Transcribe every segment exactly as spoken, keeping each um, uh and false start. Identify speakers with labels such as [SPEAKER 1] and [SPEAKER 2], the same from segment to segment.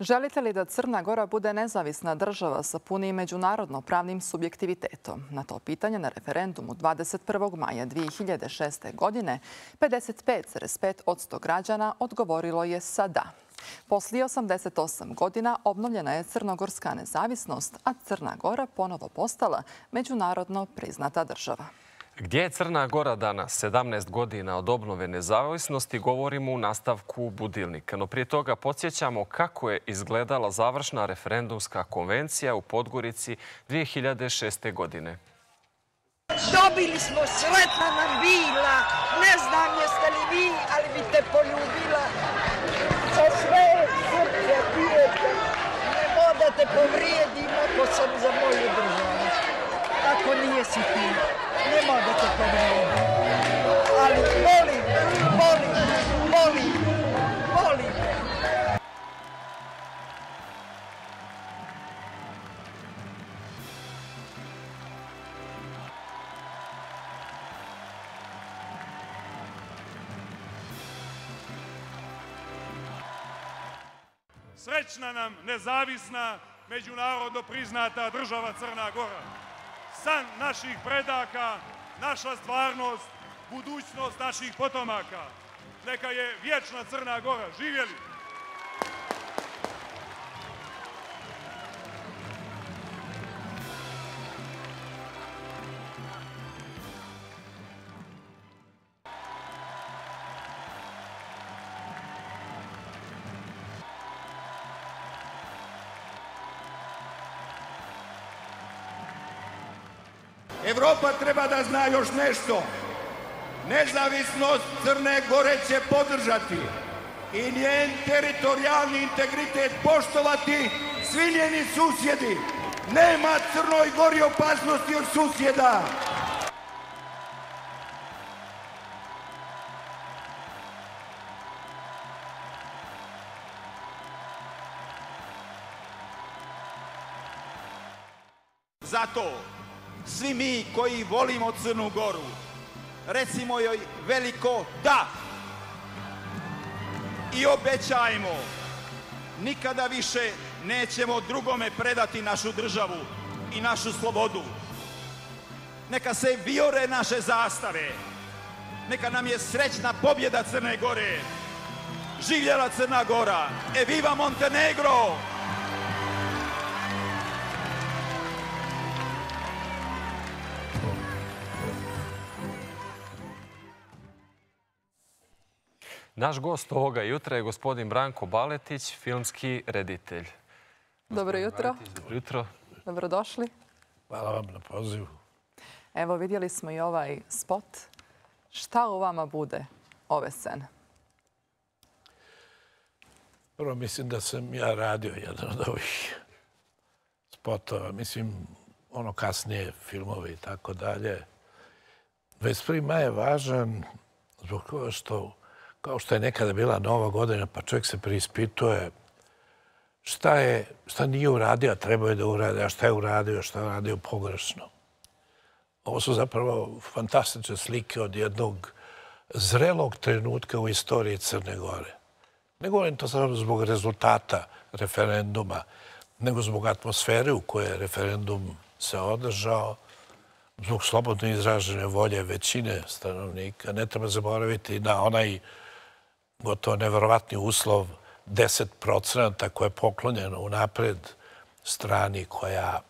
[SPEAKER 1] Želite li da Crna Gora bude nezavisna država sa punim međunarodno-pravnim subjektivitetom? Na to pitanje na referendumu dvadeset prvog maja dvije hiljade šeste. godine pedeset pet zarez pet posto građana odgovorilo je sa da. Poslije osamdeset osam godina obnovljena je crnogorska nezavisnost, a Crna Gora ponovo postala međunarodno priznata država.
[SPEAKER 2] Gdje je Crna Gora danas, sedamnaest godina od obnove nezavisnosti, govorimo u nastavku Budilnika. No prije toga podsjećamo kako je izgledala završna referendumska konvencija u Podgorici dvije hiljade šeste. godine.
[SPEAKER 3] Dobili smo, sretna nam bila, ne znam jeste li vi, ali bi te poljubila. Sa sve srce pijete, ne moda te povrijedim ako sam za moju državu. Ako nije si ti. Ne mogu te povrijediti, ali volim, volim, volim, volim.
[SPEAKER 4] Srećna nam nezavisna, međunarodno priznata država Crna Gora. San naših predaka, naša stvarnost, budućnost naših potomaka. Neka je vječna Crna Gora. Živjeli!
[SPEAKER 5] Evropa treba da zna još nešto. Nezavisnost Crne Gore će podržati i njen teritorijalni integritet poštovati svi njeni susjedi. Nema Crnoj Gori opasnosti od susjeda.
[SPEAKER 6] Zato svi mi koji volimo Crnu Goru, recimo joj veliko da i obećajmo, nikada više nećemo drugome predati našu državu i našu slobodu. Neka se vijore naše zastave, neka nam je srećna pobjeda Crne Gore. Živjela Crna Gora, e viva Montenegro!
[SPEAKER 2] Naš gost ovoga jutra je gospodin Branko Baletić, filmski reditelj.
[SPEAKER 1] Dobro jutro.
[SPEAKER 2] Dobro jutro.
[SPEAKER 1] Dobrodošli.
[SPEAKER 7] Hvala vam na pozivu.
[SPEAKER 1] Evo, vidjeli smo i ovaj spot. Šta u vama bude ove scene?
[SPEAKER 7] Prvo, mislim da sam ja radio jedan od ovih spotova. Mislim, ono kasnije filmove i tako dalje. dvadeset prvi maj je važan zbog toga što kao što je nekada bila Nova godina, pa čovjek se preispituje šta je, šta nije uradio, a trebao je da uradi, a šta je uradio, šta je uradio pogrešno. Ovo su zapravo fantastične slike od jednog zrelog trenutka u istoriji Crne Gore. Ne govorim to samo zbog rezultata referenduma, nego zbog atmosfere u kojoj je referendum se održao, zbog slobodno izražene volje većine stanovnika. Ne treba zaboraviti na onaj gotovo neverovatni uslov deset procenata koje je poklonjeno unapred strani koja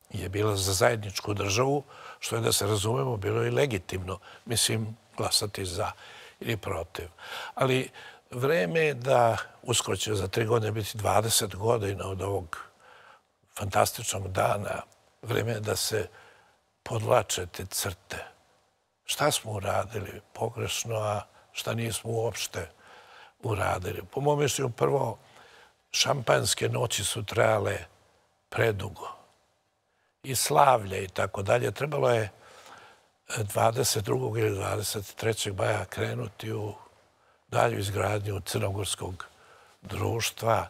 [SPEAKER 7] je bila za zajedničku državu, što je, da se razumemo, bilo i legitimno. Mislim, glasati za ili protiv. Ali vreme je da uskoro će za tri godine biti dvadeset godina od ovog fantastičnog dana. Vreme je da se podvlače te crte. Šta smo uradili pogrešno, a šta nismo uopšte uradili. Po mom mišljenju, prvo, šampanjske noći su trajale predugo. I slavlje i tako dalje. Trebalo je dvadeset drugog ili dvadeset trećeg maja krenuti u dalju izgradnju crnogorskog društva.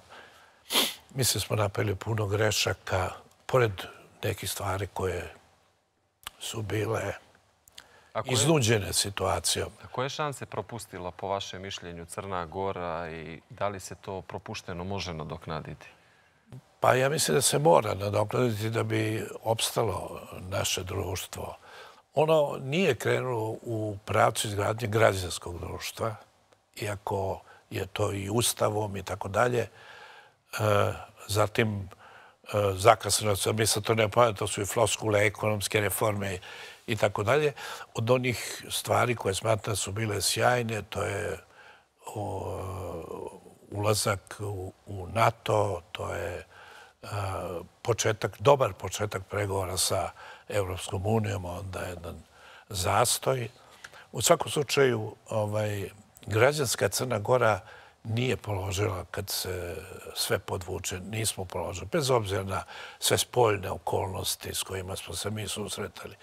[SPEAKER 7] Mislim, smo napravili puno grešaka, pored nekih stvari koje su bile iznuđene situacijom.
[SPEAKER 2] A koje šanse propustila po vašem mišljenju Crna Gora i da li se to propušteno može nadoknaditi?
[SPEAKER 7] Pa ja mislim da se mora nadoknaditi da bi opstalo naše društvo. Ono nije krenulo u pravcu izgradnje građanskog društva, iako je to i ustavom i tako dalje. Zatim, zakasno, mi se to ne pojavljamo, to su i floskule, ekonomske reforme i tako dalje. Od onih stvari koje smatram su bile sjajne, to je ulazak u NATO, to je početak, dobar početak pregovora sa Evropskom unijom, onda jedan zastoj. U svakom slučaju, građanska Crna Gora nije položila, kad se sve podvuče, nismo položili, bez obzira na sve spoljne okolnosti s kojima smo se mi susretali.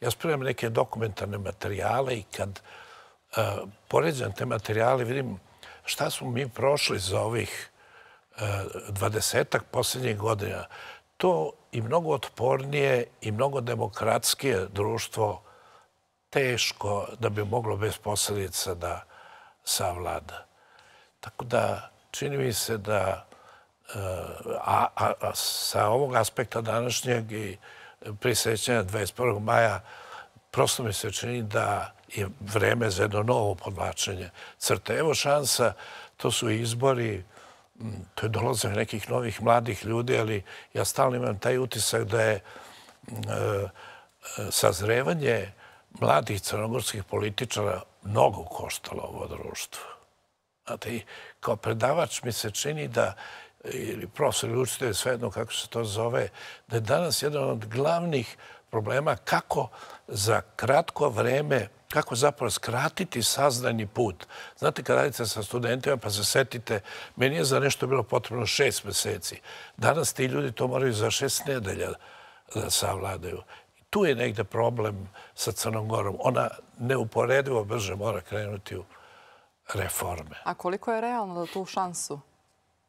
[SPEAKER 7] Ja spremam neke dokumentarne materijale i kad poređam te materijale, vidim šta smo mi prošli za ovih dvadesetak posljednjih godina. To i mnogo otpornije i mnogo demokratskije društvo teško da bi moglo bez posljedica da savlada. Tako da čini mi se da a sa ovog aspekta današnjeg i prisjećanja dvadeset prvog maja prosto mi se čini da je vreme za jedno novo podvlačenje crte. Evo šansa, to su izbori, to je dolazak nekih novih mladih ljudi, ali ja stalno imam taj utisak da je sazrevanje mladih crnogorskih političara mnogo koštalo ovo društvo. Znate, i kao predavač mi se čini da, ili profesor ili učitelj, svejedno kako se to zove, da je danas jedan od glavnih problema kako za kratko vreme, kako zapravo skratiti saznajni put. Znate, kad radite sa studentima pa se setite, meni je za nešto bilo potrebno šest meseci. Danas ti ljudi to moraju za šest nedelja da savladaju. Tu je negde problem sa Crnom Gorom. Ona neuporedivo brže mora krenuti u reforme.
[SPEAKER 1] A koliko je realno da tu šansu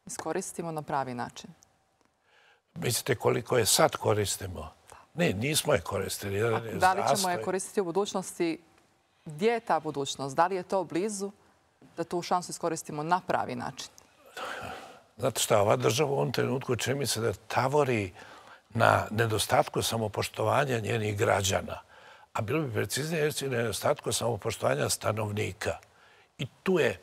[SPEAKER 1] iskoristimo na pravi način?
[SPEAKER 7] Mislite koliko je sad koristimo? Ne, nismo je koristili.
[SPEAKER 1] Da li ćemo je koristiti u budućnosti? Gdje je ta budućnost? Da li je to blizu da tu šansu iskoristimo na pravi način?
[SPEAKER 7] Znate šta, ova država u ovom trenutku čini mi se da tavori na nedostatku samopoštovanja njenih građana. A bilo bi preciznije reći nedostatku samopoštovanja stanovnika. I tu je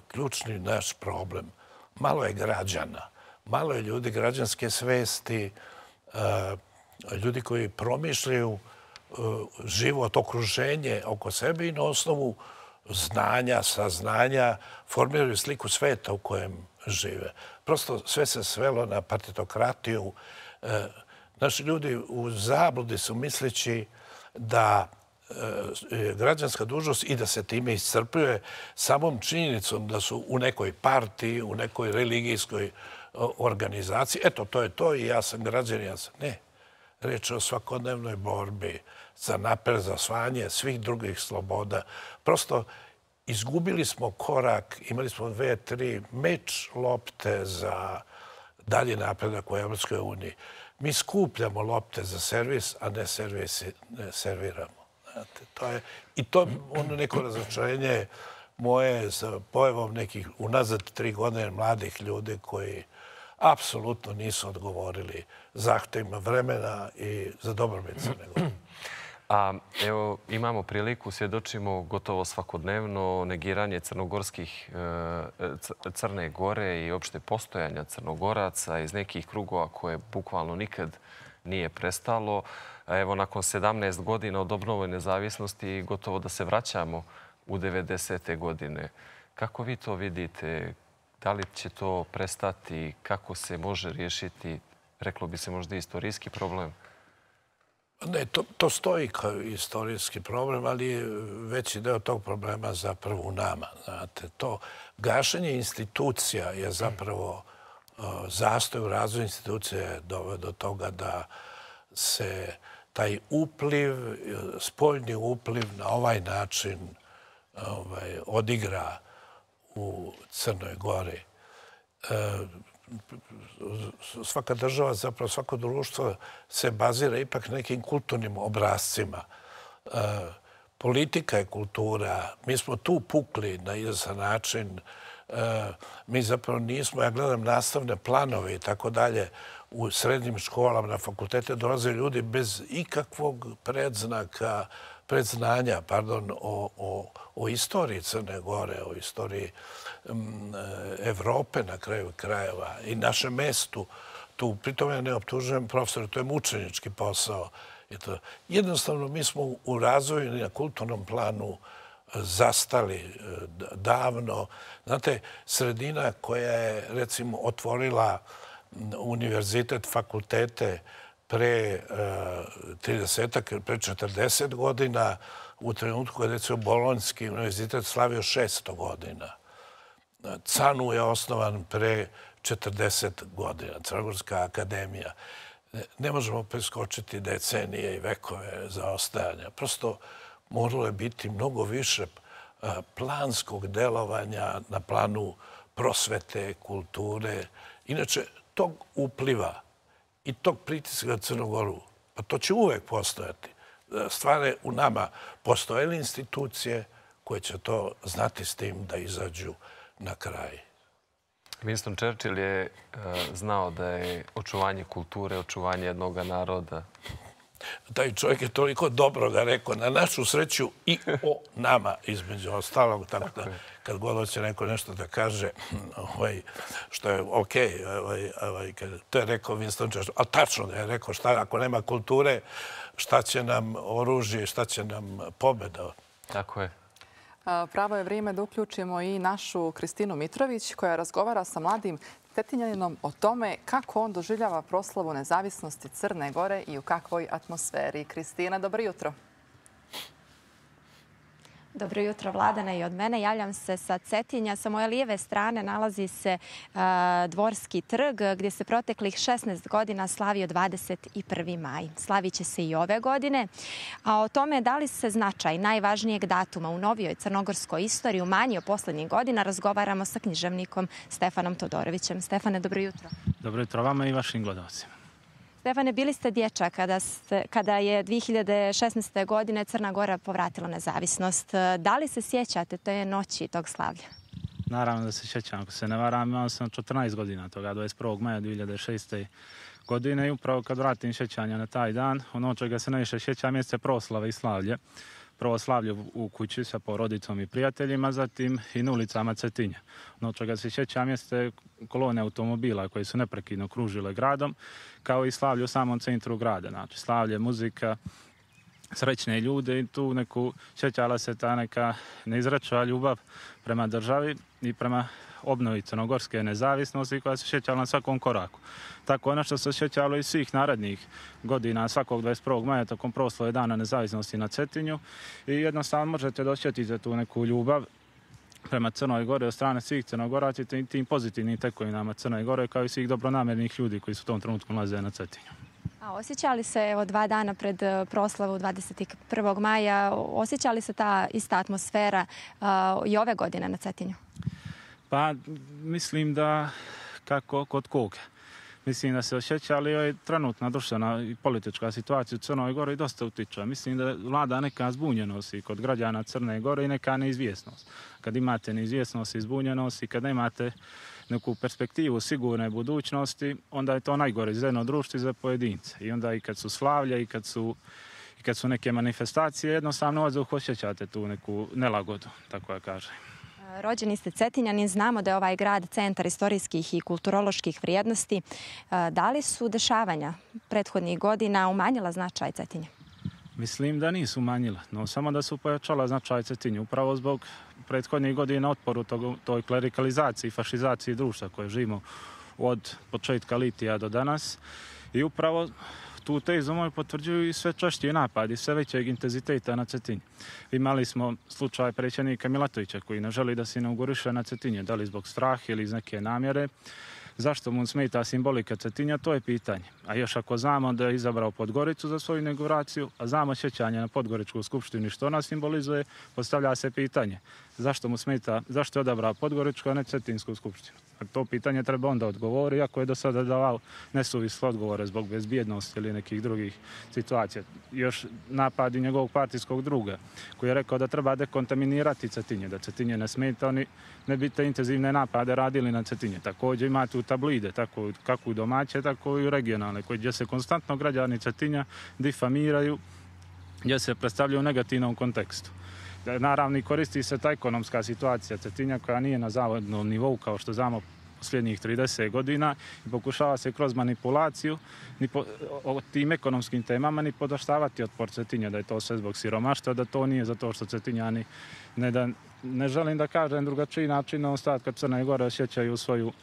[SPEAKER 7] ključni naš problem. Malo je građana, malo je ljudi građanske svesti, ljudi koji promišljaju život, okruženje oko sebe i na osnovu znanja, saznanja formiraju sliku sveta u kojem žive. Prosto sve se svelo na partitokratiju. Naši ljudi u zabludi su misleći da građanska dužnost i da se time iscrpljuje samom činjenicom da su u nekoj partiji, u nekoj religijskoj organizaciji. Eto, to je to i ja sam građan, ja sam. Ne. Reč je o svakodnevnoj borbi za napred, za osvajanje svih drugih sloboda. Prosto izgubili smo korak, imali smo dve, tri meč lopte za dalje napredak u Evropskoj uniji. Mi skupljamo lopte za servis, a ne serviramo. I to je ono neko razočarenje moje sa pojavom nekih unazad tri godine mladih ljudi koji apsolutno nisu odgovorili zahtevima vremena i za dobrobit Crne Gore.
[SPEAKER 2] A evo, imamo priliku, svjedočimo gotovo svakodnevno negiranje crnogorskih Crne Gore i opšte postojanja Crnogoraca iz nekih krugova koje bukvalno nikad nije prestalo. Evo, nakon sedamnaest godina od obnove nezavisnosti gotovo da se vraćamo u devedesete godine. Kako vi to vidite? Da li će to prestati? Kako se može riješiti, reklo bi se možda, istorijski problem?
[SPEAKER 7] Ne, to stoji kao istorijski problem, ali veći deo tog problema zapravo u nama. To gašenje institucija je zapravo zastoj u razvoju institucije doveo do toga da se taj upliv, spoljni upliv na ovaj način odigra u Crnoj Gori. Svaka država, zapravo svako društvo se bazira ipak nekim kulturnim obrazcima. politika je kultura. Mi smo tu pukli na izvestan način. Mi zapravo nismo, ja gledam nastavne planove i tako dalje, u srednjim školama, na fakultete dolaze ljudi bez ikakvog predznaka, predznanja, pardon, o, o, o istoriji Crne Gore, o istoriji um, Evrope na kraju krajeva i našem mestu. Tu, pritom ja ne optužujem profesora, to je mučenički posao. To, jednostavno, mi smo u razvoju na kulturnom planu zastali davno. Znate, sredina koja je, recimo, otvorila univerzitet, fakultete pre tridesetak, pre četrdeset godina, u trenutku kada je recimo Bolonjski univerzitet slavio šesto godina. CANU je osnovan pre četrdeset godina, Crnogorska akademija. Ne možemo preskočiti decenije i vekove zaostajanja. Prosto moralo je biti mnogo više planskog delovanja na planu prosvete, kulture. Inače, tog upliva i tog pritiska na Crnogoru, pa to će uvek postojati. Stvari u nama postojele institucije koje će to znati s tim da izađu na kraj.
[SPEAKER 2] Winston Churchill je znao da je očuvanje kulture, očuvanje jednog naroda.
[SPEAKER 7] Taj čovjek je toliko dobroga rekao, na našu sreću i o nama, između ostalog. Tako da, kad god hoće neko nešto da kaže, ovaj, što je okej, ovaj, ovaj, to je rekao Winston Churchill. Ali tačno da je rekao, šta, ako nema kulture, šta će nam oružje, šta će nam pobjeda.
[SPEAKER 2] Tako je.
[SPEAKER 1] Pravo je vrijeme da uključimo i našu Kristinu Mitrović, koja razgovara sa mladim Cetinjaninom o tome kako on doživljava proslavu nezavisnosti Crne Gore i u kakvoj atmosferi. Kristina, dobro jutro.
[SPEAKER 8] Dobro jutro, Vladana, i od mene. Javljam se sa Cetinja. Sa moje lijeve strane nalazi se uh, Dvorski trg, gdje se proteklih šesnaest godina slavio dvadeset prvi maj. Slavit će se i ove godine. A o tome da li se značaj najvažnijeg datuma u novijoj crnogorskoj istoriji umanjio posljednjih godina, razgovaramo sa književnikom Stefanom Todorovićem. Stefane, dobro jutro.
[SPEAKER 9] Dobro jutro vama i vašim gledalcima.
[SPEAKER 8] Stefane, bili ste dječak kada, ste, kada je dvije hiljade šesnaeste. godine Crna Gora povratila nezavisnost. Da li se sjećate te noći tog slavlja?
[SPEAKER 9] Naravno da se sjećam. Ako se ne varam, imao sam četrnaest godina toga, dvadeset prvog maja dvije hiljade šeste. godine. I upravo kad vratim sjećanja na taj dan, ono čega se najviše sjećam jeste proslave i slavlje. Prvo slavlje u kući sa porodicom i prijateljima, zatim i na ulicama Cetinja. Ono čega se sjećam jeste kolone automobila koji su neprekidno kružile gradom, kao i slavlje u samom centru grada. Znači, slavlje, muzika, srećne ljude i tu neku sjećala se ta neka neizrečena ljubav prema državi i prema obnovi crnogorske nezavisnosti koja se sjećala na svakom koraku. Tako ono što se sjećalo i svih narednih godina svakog dvadeset prvog maja tokom proslave Dana nezavisnosti na Cetinju i jednostavno možete dosjetiti tu neku ljubav prema Crnoj Gori od strane svih Crnogoraca i tim pozitivnim tekovinama Crne Gore kao i svih dobronamernih ljudi koji su u tom trenutku nalaze na Cetinju.
[SPEAKER 8] A osjećali se evo dva dana pred proslavu dvadeset prvog maja, osjećali se ta ista atmosfera uh, i ove godine na Cetinju?
[SPEAKER 9] Pa mislim da kako kod koga. Mislim da se osjeća, ali je trenutna društvena i politička situacija u Crnoj Gori dosta utiče. Mislim da vlada neka zbunjenost i kod građana Crne Gore i neka neizvjesnost. Kad imate neizvjesnost i zbunjenost i kad imate neku perspektivu sigurne budućnosti, onda je to najgore za jedno društvo i za pojedince. I onda i kad su slavlja i kad su, i kad su neke manifestacije, jednostavno odzuh osjećate tu neku nelagodu, tako ja kažem.
[SPEAKER 8] Rođeni ste Cetinjanin, znamo da je ovaj grad centar istorijskih i kulturoloških vrijednosti. Da li su dešavanja prethodnih godina umanjila značaj Cetinja?
[SPEAKER 9] Mislim da nisu umanjila, no samo da su pojačala značaj Cetinja. Upravo zbog prethodnih godina otporu tog, toj klerikalizaciji i fašizaciji društva koje živimo od početka litija do danas. I upravo tu tezu moju potvrđuju i sve češći napadi, sve većeg intenziteta na Cetinju. Imali smo slučaj predsjednika Milatovića koji ne želi da se inauguriše na Cetinje, da li zbog straha ili iz neke namjere. Zašto mu smeta simbolika Cetinja, to je pitanje. A još ako znamo da je izabrao Podgoricu za svoju inauguraciju, a znamo sjećanje na Podgoričku skupštinu što ona simbolizuje, postavlja se pitanje zašto mu smeta, zašto je odabrao Podgoričku, a ne Cetinsku skupštinu. To pitanje treba onda odgovori, ako je do sada davao nesuvisle odgovore zbog bezbjednosti ili nekih drugih situacija. Još napadi njegovog partijskog druga, koji je rekao da treba dekontaminirati Cetinje, da Cetinje ne smeta, oni ne bi te intenzivne napade radili na Cetinje. Također imate u tablide, tako, kako u domaće, tako i u regionalne, gdje se konstantno građani Cetinja difamiraju, gdje se predstavljaju u negativnom kontekstu. Naravno, koristi se ta ekonomska situacija Cetinja koja nije na zavodnom nivou kao što znamo posljednjih trideset godina i pokušava se kroz manipulaciju ni po, o tim ekonomskim temama ni podaštavati otpor Cetinja, da je to sve zbog siromaštva, da to nije zato što Cetinjani ne, da, ne želim da kažem drugačiji način na ostatka Crne Gore osjećaju svoju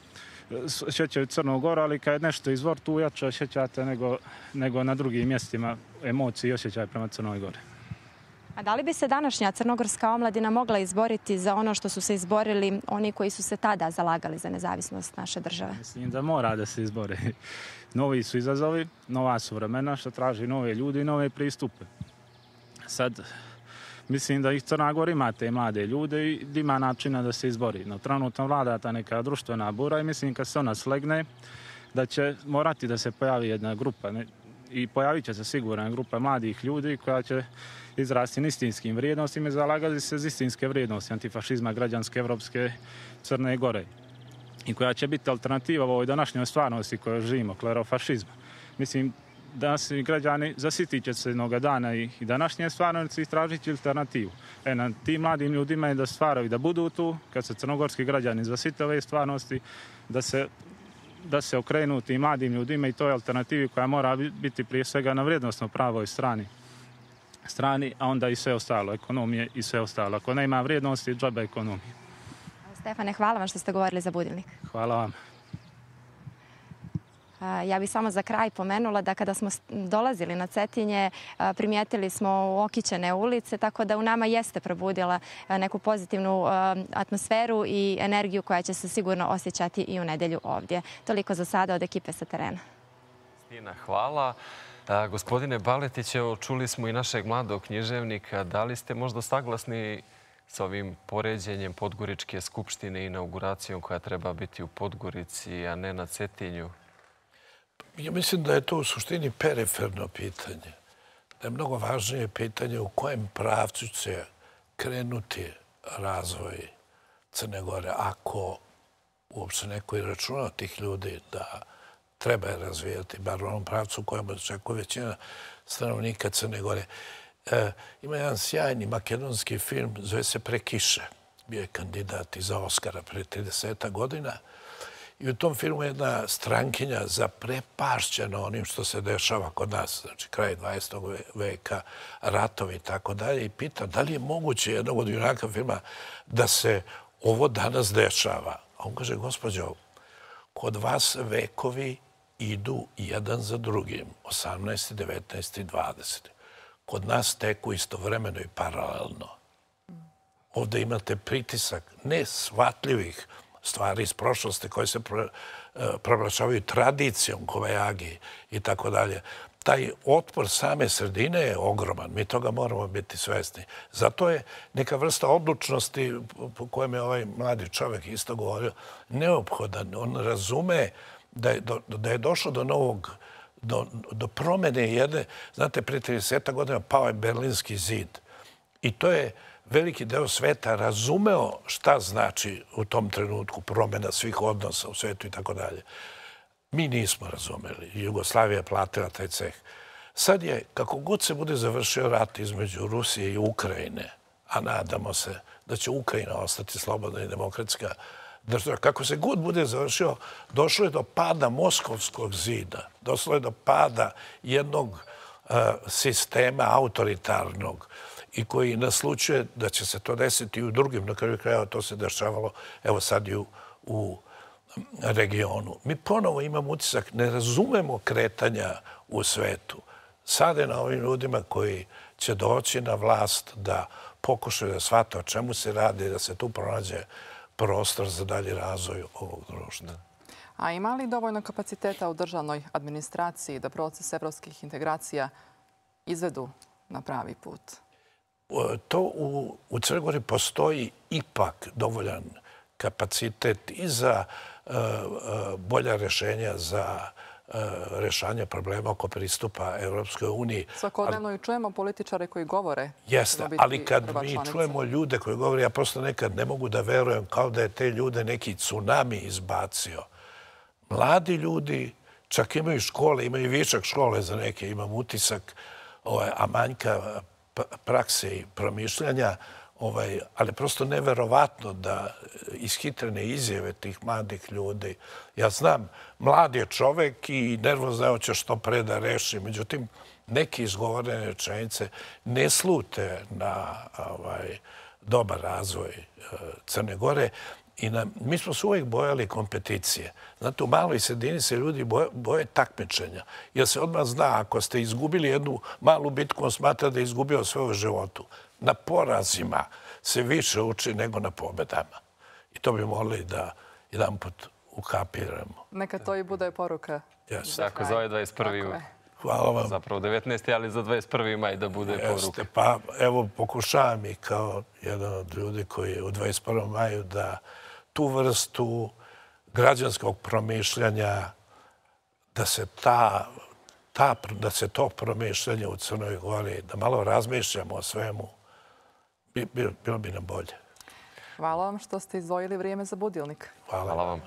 [SPEAKER 9] osjećaju Crnu Goru, ali kad je nešto izvor tu jače osjećate nego, nego na drugim mjestima emocije i osjećaj prema Crnoj Gori.
[SPEAKER 8] A da li bi se današnja crnogorska omladina mogla izboriti za ono što su se izborili oni koji su se tada zalagali za nezavisnost naše države?
[SPEAKER 9] Mislim da mora da se izbori. Novi su izazovi, nova su vremena što traži nove ljudi i nove pristupe. Sad, mislim da ih Crna Gora ima te mlade ljude i ima načina da se izbori. No, trenutno vlada ta neka društvena bura i mislim kad se ona slegne da će morati da se pojavi jedna grupa ne? I pojavit će se sigurna grupa mladih ljudi koja će izrasti na istinskim vrijednostima i zalagati se za istinske vrijednosti antifašizma građanske evropske Crne Gore i koja će biti alternativa ovoj današnjoj stvarnosti kojoj živimo, klerofašizma. Mislim, danas građani zasitit će se jednoga dana i današnje stvarnosti i tražiti alternativu. E, na tim mladim ljudima je da stvaraju, da budu tu, kad se crnogorski građani zasite ove stvarnosti, da se da se okrenu tim mladim ljudima i toj alternativi koja mora biti prije svega na vrijednostno pravoj strani. strani, a onda i sve ostalo, ekonomije i sve ostalo. Ako nema vrijednosti, džabe ekonomije.
[SPEAKER 8] Stefane, hvala vam što ste govorili za Budilnik.
[SPEAKER 9] Hvala vam.
[SPEAKER 8] Ja bih samo za kraj pomenula da kada smo dolazili na Cetinje, primijetili smo okićene ulice, tako da u nama jeste probudila neku pozitivnu atmosferu i energiju koja će se sigurno osjećati i u nedelju ovdje. Toliko za sada od ekipe sa terena.
[SPEAKER 2] Stina, hvala. Gospodine Baletić, evo, čuli smo i našeg mladog književnika. Da li ste možda saglasni sa ovim poređenjem Podgoričke skupštine i inauguracijom koja treba biti u Podgorici, a ne na Cetinju?
[SPEAKER 7] Ja mislim da je to u suštini periferno pitanje. Da je mnogo važnije pitanje u kojem pravcu će krenuti razvoj Crne Gore, ako uopće neko i računa od tih ljudi da treba je razvijati, bar u onom pravcu u kojem očekuje većina stanovnika Crne Gore. E, ima jedan sjajni makedonski film, zove se Prekiše. Bio je kandidat i za Oskara pre trideset godina. I u tom filmu je jedna strankinja zaprepašćena onim što se dešava kod nas, znači kraj dvadesetog veka, ratovi i tako dalje, i pita da li je moguće jednog od junaka filma da se ovo danas dešava. A on kaže, gospođo, kod vas vekovi idu jedan za drugim, osamnaesti, devetnaesti, dvadeseti. Kod nas teku istovremeno i paralelno. Ovdje imate pritisak nesvatljivih stvari iz prošlosti koje se proglašavaju tradicijom, kovajagi i tako dalje. Taj otpor same sredine je ogroman. Mi toga moramo biti svesni. Zato je neka vrsta odlučnosti po kojem je ovaj mladi čovjek isto govorio neophodan. On razume da je, do, da je došlo do novog, do, do promjene jedne. Znate, prije trideset godina pao je Berlinski zid. I to je veliki deo sveta razumeo šta znači u tom trenutku promjena svih odnosa u svetu i tako dalje. Mi nismo razumeli. Jugoslavija je platila taj ceh. Sad je, kako god se bude završio rat između Rusije i Ukrajine, a nadamo se da će Ukrajina ostati slobodna i demokratska država, kako se god bude završio, došlo je do pada Moskovskog zida, došlo je do pada jednog uh, sistema autoritarnog i koji naslučuje da će se to desiti i u drugim, na kraju krajeva to se dešavalo, evo sad i u, u regionu. Mi ponovo imamo utisak, ne razumemo kretanja u svetu. Sad je na ovim ljudima koji će doći na vlast da pokušaju da shvate o čemu se radi, da se tu pronađe prostor za dalji razvoj ovog društva.
[SPEAKER 1] A ima li dovoljno kapaciteta u državnoj administraciji da proces evropskih integracija izvedu na pravi put?
[SPEAKER 7] to u, u Crnoj Gori postoji ipak dovoljan kapacitet i za uh, uh, bolja rješenja za uh, rješanje problema oko pristupa Europskoj uniji.
[SPEAKER 1] Svakodnevno i čujemo političare koji govore.
[SPEAKER 7] Jeste, ali kad mi čujemo ljude koji govore, ja prosto nekad ne mogu da verujem kao da je te ljude neki tsunami izbacio. Mladi ljudi čak imaju škole, imaju višak škole za neke, imam utisak, ovaj, a manjka prakse i promišljanja, ovaj, ali prosto neverovatno da ishitrene izjave tih mladih ljudi. Ja znam, mlad je čovek i nervozno hoće što pre da reši, međutim, neke izgovorene rečenice ne slute na ovaj, dobar razvoj Crne Gore. I na, mi smo se uvijek bojali kompeticije. Znate, u maloj sredini se ljudi boje, boje takmičenja. Jer se odmah zna, ako ste izgubili jednu malu bitku, on smatra da je izgubio sve u životu. Na porazima se više uči nego na pobedama. I to bi morali da jedan put ukapiramo.
[SPEAKER 1] Neka to i bude poruka.
[SPEAKER 7] Yes.
[SPEAKER 2] Tako, za ovaj dvadeset prvi
[SPEAKER 7] Hvala vam.
[SPEAKER 2] Zapravo devetnaesti ali za dvadeset prvi maj da bude
[SPEAKER 7] Jeste,
[SPEAKER 2] poruka.
[SPEAKER 7] Pa evo, pokušavam i kao jedan od ljudi koji je u dvadeset prvom maju da tu vrstu građanskog promišljanja, da se, ta, ta, da se to promišljanje u Crnoj Gori, da malo razmišljamo o svemu, bi, bilo bi nam bolje.
[SPEAKER 1] Hvala vam što ste izdvojili vrijeme za budilnik.
[SPEAKER 7] Hvala,
[SPEAKER 2] Hvala vam.